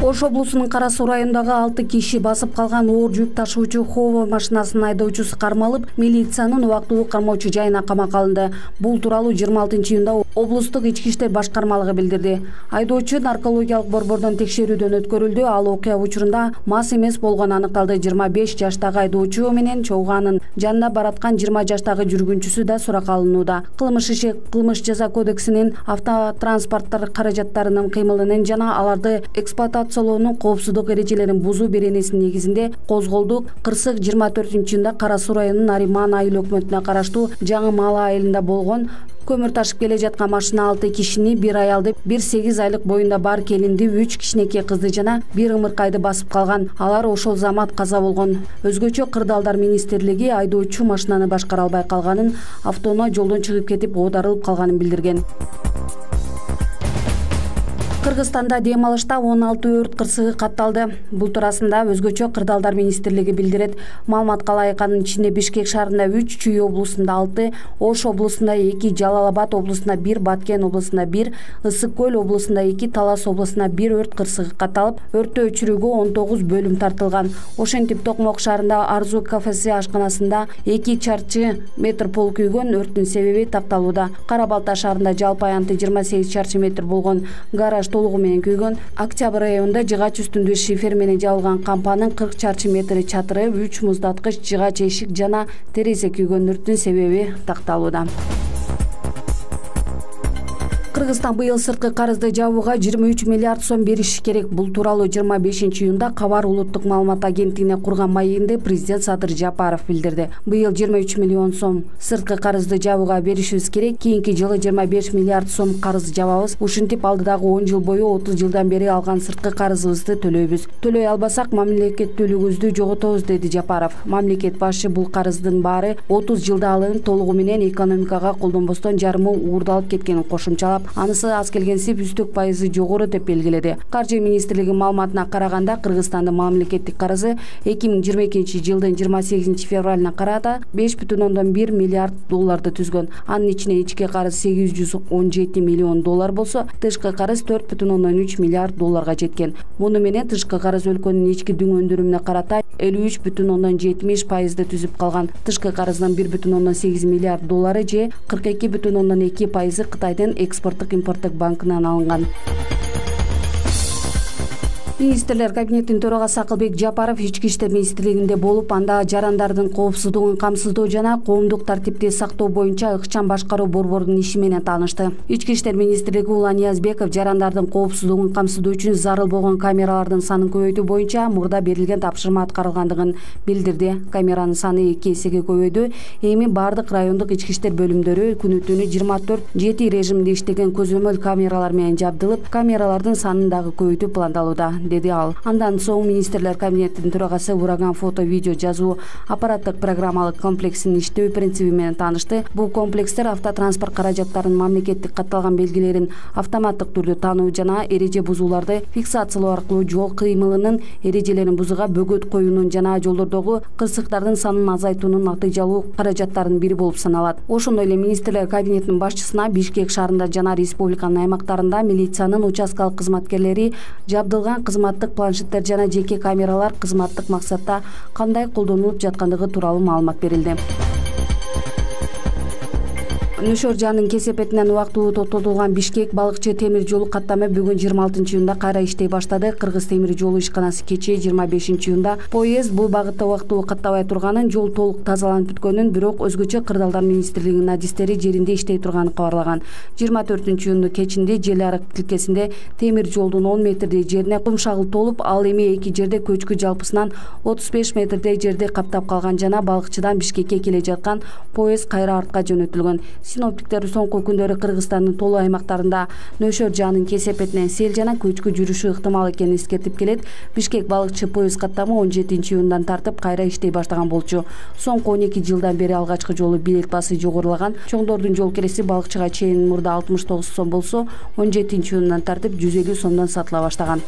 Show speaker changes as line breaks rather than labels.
Ош облусунун Кара Суу районундагы 6 киши басып калган оор жүк ташуучу Хово машинасынын айдоочусу кармалып, милициянын убактылуу кармоочу жайына камакка алынды. Бул тууралуу 26-июнда облустук ички иштер башкармалыгы билдирди. Айдоочу наркологиялык борбордон текшерүүдөн өткөрүлдү. Ал окуя учурунда мас эмес болгону аныкталды. 25 жаштагы айдоочу менен чогуу анын жанында бараткан 20 жаштагы жүргүнчүсү да суракка алынууда. Кылмыш иши Кылмыш жаза кодексинин автотранспорттор каражаттарынын кыймылынын жана аларды эксплуатациялоонун коопсуздук эрежелерин бузуу беренесинин негизинде козголду. Кырсык 24-июнда Кара Суу районунун Нариман айыл өкмөтүнө караштуу Жаңы Мала айылында болгон. Көмүр ташып келе жаткан машина 6 кишини, 1 аялды, 1 8 айлык боюнда бар келинди, 3 кичинекей кызды жана 1 ымыркайды басып калган. Алар ошол замат каза болгон. Өзгөчө Кырдаалдар министрлиги айдоочу машинаны башкара албай калганын, автоунаа жолдон чыгып кетип оодарылып калганын билдирген. Кыргызстанда дем алышта 16 өрт кырсыгы катталды. Бул туурасында өзгөчө Кырдаалдар министрлиги билдирет. Маалыматка ылайык анын ичинде Бишкек шаарында 3, Чүй облусунда 6, Ош облусунда 2, Жалал Абад облусунда 1, Баткен облусунда 1, Ысык Көл облусунда 2, Талас облусунда 1 өрт кырсыгы катталып, өрттү өчүрүүгө 19 бөлүм тартылган. Ошентип Токмок шаарында Арзу кафеси ашканасында 2 чарчы метр пол күйгөн, өрттүн себеби такталууда. Кара Балта шаарында жалпы аянты 28 чарчы метр болгон гараж толугу менен күйгөн. Октябрь районунда жыгач үстүндө шифер менен жабылган кампанын 40 чарчы метри чатыры, 3 муздаткыч, жыгач эшик жана терезе күйгөн. Өрттүн себеби такталууда. Кыргызстан быйыл сырткы карызды жабууга 23 миллиард сом бериши керек. Бул тууралуу 25-июнда Кабар улуттук маалымат агенттигине курган маегинде президент Садыр Жапаров билдирди. Быйыл 23 миллион сом сырткы карызды жабууга беришибиз керек. Кийинки жылы 25 миллиард сом карыз жабабыз. Ушинтип алдыдагы 10 жыл бою 30 жылдан бери алган сырткы карызыбызды төлөйбүз. Төлөй албасак мамлекеттүүлүгүбүздү жоготобуз, деди Жапаров. Мамлекет башы бул карыздын баары 30 жылда алынып, толугу менен экономикага колдонбостон жарымы уурдалып кеткенин кошумчалап, анысы аз келгенсип үстүк пайызы жогору деп белгиледи. Каржы министрлиги маалыматына караганда, Кыргызстандын мамлекеттик карызы 2022 жылдын 28 февралына карата 5,1 миллиард долларды түзгөн. Анын ичинен ички карыз 817 миллион доллар болсо, тышкы карыз 4,3 миллиард долларга жеткен. Муну менен тышкы карыз өлкөнүн ички дүң өндүрүмүнө карата 53,70% түзүп калган. Тышкы карыздын 1,8 миллиард доллары же 42,2% Кытайдын экспорттук-импорттук банкынан алынган. Министрлер кабинетинин төрагасы Акылбек Жапаров ички иштер министрлигинде болуп, анда жарандардын коопсуздугун камсыздоо жана коомдук тартипти сактоо боюнча ыкчам башкаруу борборунун иши менен таанышты. Ички иштер министрлиги Улан Ниязбеков жарандардын коопсуздугун камсыздоо үчүн зарыл болгон камералардын санын көбөйтүү боюнча мурда берилген тапшырма аткарылгандыгын билдирди. Камеранын саны 2 эсеге көбөйдү. Эми бардык райондук ички иштер бөлүмдөрү күнү-түнү 24/7 режиминде иштеген көзөмөл камералар менен жабдылып, камералардын санын дагы көбөйтүү пландалууда, деди ал. Андан соң министрлер кабинетинин төрагасы ураган фото видео жазуу аппараттык программалык комплексинин иштөө принциби менен таанышты. Бул комплекстер автотранспорт каражаттарынын мамлекеттик катталган белгилерин автоматтык түрдө таануу жана эреже бузууларды фиксациялоо аркылуу жол кыймылынын эрежелерин бузууга бөгөт коюунун жана жолдордогу кырсыктардын санын азайтуунун натыйжалуу каражаттарынын бири болуп саналат. Ошондой эле министрлер кабинетинин башчысына Бишкек шаарында жана республиканын аймактарында милициянын участкалык кызматкерлери жабдылган кызматтык планшеттер жана жеке камералар кызматтык максатта кандай колдонулуп жаткандыгы тууралуу маалымат берилди. Нөшөр жаанын кесепетинен убактылуу токтотулган Бишкек балыкчы темир жолу каттамы бүгүн 26-июнда кайра иштей баштады. Кыргыз темир жолу ишканасы кечээ 25-июнда поезд бул багытта убактылуу каттабай турганын, жол толук тазаланып бүткөнүн, бирок өзгөчө Кырдаалдар министрлигинин адистери жеринде иштей турганын кабарлаган. 24-июнду кечинде Жел арык тилкесинде темир жолдун 10 метрдей жерине кум шагыл толуп, ал эми 2 жерде көчкү жалпысынан 35 метрдей жерди каптап калган жана балыкчыдан Бишкекке келе жаткан поезд кайра артка жөнөтүлгөн. Синоптиктер соңку күндөрү Кыргызстандын толуу аймактарында нөшөр жаанын кесепетинен сел жана көчкү жүрүшү ыктымал экенин эскертип келет. Бишкек балыкчы поезд каттамы 17-июндан тартып кайра иштей баштаган болчу. Соңку 12 жылдан бери алгачкы жолу билет баасы жогорулаган. Чоңдордун жол киреси балыкчыга чейин мурда 69 сом болсо, 17-июндан тартып 150 сомдон сатыла баштаган.